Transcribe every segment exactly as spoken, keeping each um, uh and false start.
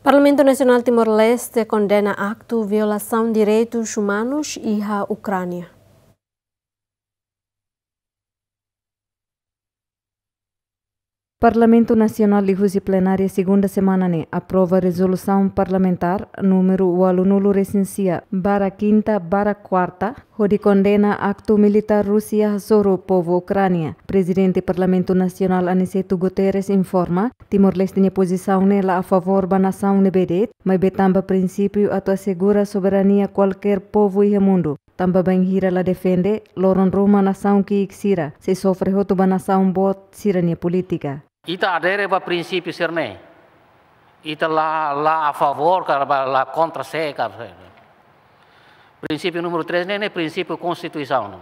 Parlamentu Nasionál Timor-Leste kondena aktu violasaun direitus umanus iha Ukránia. Parlamentu Nasionál liuhusi plenária segunda semana ne'e aprova rezolusaun parlamentár númeru ualunulu resin sia barra kinta barra kuarta, hodi kondena aktu militár Rúsia hasoru povu Ukránia. Prezidente Parlamentu Nasionál Aniceto Guterres informa, Timor-Leste nia pozisaun ne'e la a favór ba nasaun ne'ebé de'it, maibé tanba prinsípiu atu asegura soberania kualkér povu iha mundu. Tanba bainhira la defende, loron ruma nasaun ki'ik sira sei sofre hotu ba nasaun boot sira-nia polítika. Ita adere ba prinsípiu sira-ne'e. Ita la, la a favór ka ba la kontra sé ka. Prinsípiu númeru três ne'e, ne'e prinsípiu konstituisaun.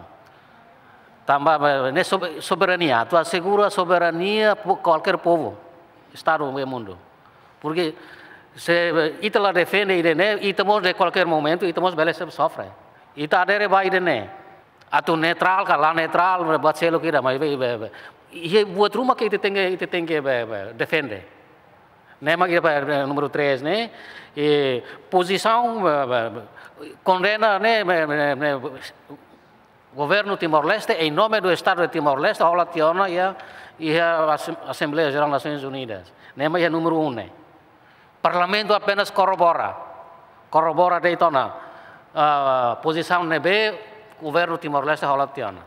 Tanba, eh, ne'e sobe-, soberania, atu asegura soberania po-, kualkér povu, estadu iha mundu. Porke se, eh, ita la defende ida-ne'e, ita mós iha kualkér momentu, ita mós bele sofre. Ita adere ba ida-ne'e. Atu neutrál ka la neutrál, buat seluk ida, maibé, be, be. Iha buat ruma ke ita tenke, ita tenke, be, be, defende. Ne'e mak ida, be, be, númeru três ne'e, e pozisaun, be, be, be, kondena ne'e, be, be, be, governu Timor-Leste, em nome do Estado de Timor-Leste, hola tiha ona iha, iha Asem-, Assembleia Geral das Nações Unidas. Ne'e mak iha númeru um ne'e. Parlamentu apenas korrobora. Korrobora de'it ona, ah, pozisaun ne'ebé governu Timor-Leste hola tiha ona.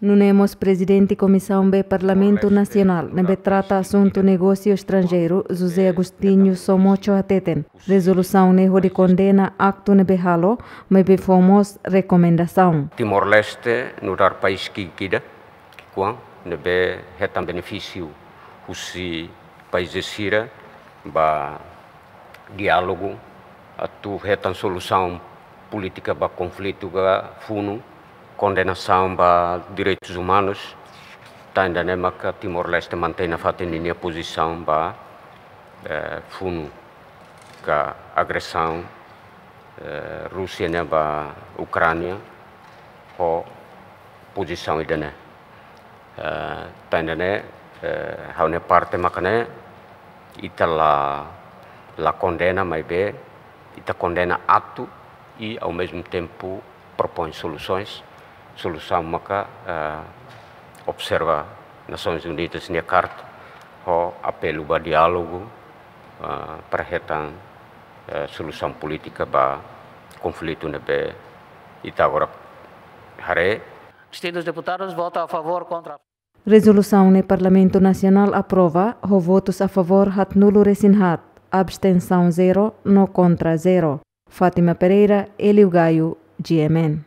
Nune'e mós Prezidente Komisaun B Parlamentu Nasionál ne'ebé trata asuntu negósiu estranjeiru, José Agostinho Somocho hateten, rezolusaun ne'e hodi kondena aktu ne'ebé halo, maibé fó mós rekomendasaun. Timor-Leste nu'udar país ki'ik ida, ki'ikoan, ne'ebé hetan benefísiu husi país sira ba diálogu, atu hetan solusaun polítika ba konflitu ka funu, kondenasaun ba direitus umanus, tan ida-ne'e maka Timor-Leste mantein nafatin ninia pozisaun ba, eh, funu ka agresaun, eh, Rúsia nian ba Ukránia, ho pozisaun ida-ne'e. Eh, tan ida-ne'e, eh, ha'u-nia parte maka ne'e, ita la, la kondena, maibé ita kondena aktu i, ao mesmo tempo, propõe soluções. Solusaun maka, eh, observa Nações Unidas nia karta, ho apelu ba diálogu, eh, para hetan, eh, solusaun polítika ba konflitu ne'ebé ita agora haree. Distintos deputados votam a favor, contra. Rezolusaun ne'e Parlamentu Nasionál aprova, ho votus a favór haatnulu resin haat, abstensaun zero, no kontra zero. Fátima Pereira, Hélio Gaio, G M N.